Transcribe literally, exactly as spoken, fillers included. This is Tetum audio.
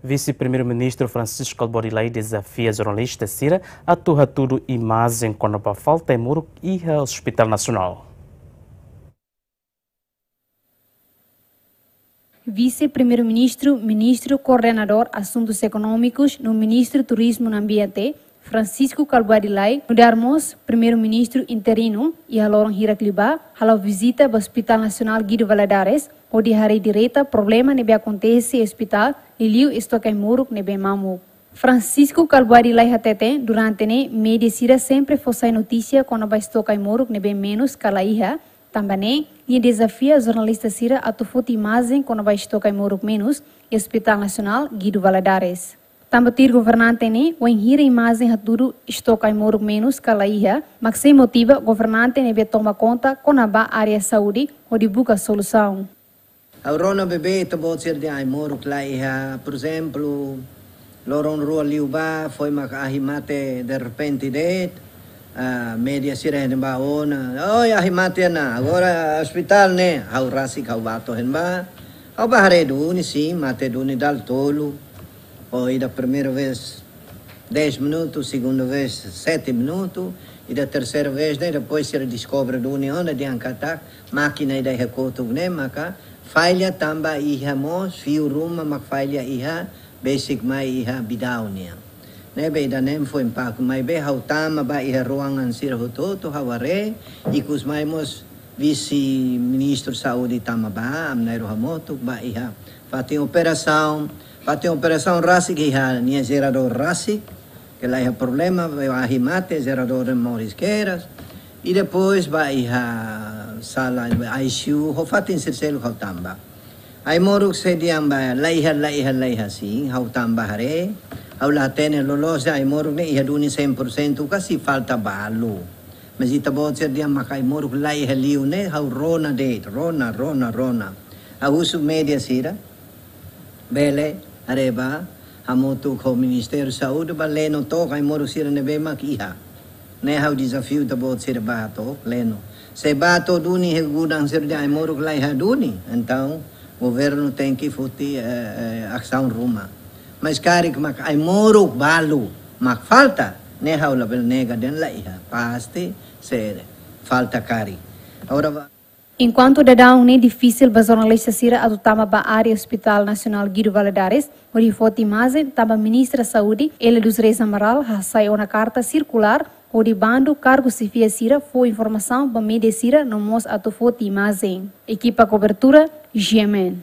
Vise-Primeiru-Ministru Francisco Kalbuadi Lay dezafia jornalista sira atu hatudu imajen kona-ba falta ai-moruk iha Hospital Nasionál. Vise-Primeiru-Ministru, Ministru Koordenadór Asuntus Ekonómikus no Ministru Turizmu no Ambiente, Francisco Kalbuadi Lay, nu'udar mós Primeiru-Ministru interinu, iha loron hirak liubá hala'o vizita ba Hospital Nasionál Guido Valadares, hodi haree direta problema ne'ebé akontese iha ospitál, liuliu estoke ai-moruk ne'ebé mamuk. Francisco Kalbuadi Lay hateten, durante ne'e média sira sempre fó sai notísia kona-ba estoke ai-moruk ne'ebé menus ka la iha, tanba ne'e nia dezafia jornalista sira atu foti imajen kona-ba estoke ai-moruk menus iha Hospital Nasionál Guido Valadares. Tanba tuir governante ne'e, wainhira imajen hatudu estoke ai-moruk menus ka la iha, mak sei motiva governante ne'ebé toma konta kona-ba área saúde hodi buka solusaun. Ha'u rona beibeik ita-boot sira dehan ai-moruk la iha, por ezemplu, loron rua liubá, foin mak ahi mate derrepente de'it, ah, média sira hein ba ona, "Oi, ahi mate ona, agora ospitál ne'e." Ha'u rasik ha'u bá to'o hein ba. Ha'u bá haree duni, sin, mate duni dala tolu. Ou ida primeira vez dez minutos, segunda vez sete minutos, ida terseira vez ne'e, depois sira deskobre duni ona dehan katak mákina ida iha kotuk ne'e maka falla tanba iha mós fiu ruma mak falla iha, besik mai iha bidau nian. Ne'ebé ida-ne'e foin impaktu, maibé ha'u tama ba iha ruangan sira hotu-hotu, ha'u haree, ikus mai mós Vise-Ministru Saúde tama ba, ami na'in-rua hamutuk ba iha fatin operasaun, fatin operasaun rasik iha nia jeradór rasik, ke la iha problema, ahi mate, jeradór ne'e moris kedas. I depois ba iha sala I C U, ho fatin sira seluk ha'u tama ba. Ai-moruk sei dehan ba, la iha, la iha, la iha, sin, ha'u tama ba haree, ha'u la hatene loloos dehan ai-moruk ne'e iha duni cem por cento ka sei falta balu. Mas ita-boot sira dehan mak ai-moruk la iha liu ne'e, ha'u rona de'it, rona, rona, rona. Ha'u husu média sira, bele, haree ba, hamutuk ho Ministériu Saúde, ba leno took ai-moruk sira ne'ebé mak iha. Ne'e ha'u dezafiu ita-boot sira ba took, leno. Se ba to'o duni iha gudang sira dehan ai-moruk la iha duni, entaun governu tenke foti, eh, eh, asaun ruma. Mas karik mak ai-moruk balu mak falta, ne'e ha'u labele nega dehan la iha. Pasti sei falta karik. Agora ba- Enkuantu daudaun ne'e difisil ba jornalista sira atu tama ba área Hospital Nasionál Guido Valadares hodi foti imajen, tanba Ministra Saúde, Élia dos Reis Amaral, hasai ona karta sirkulár hodi bandu kargu xefia sira fó informasaun ba média sira no mós atu foti imajen. Ekipa kobertura, G M N.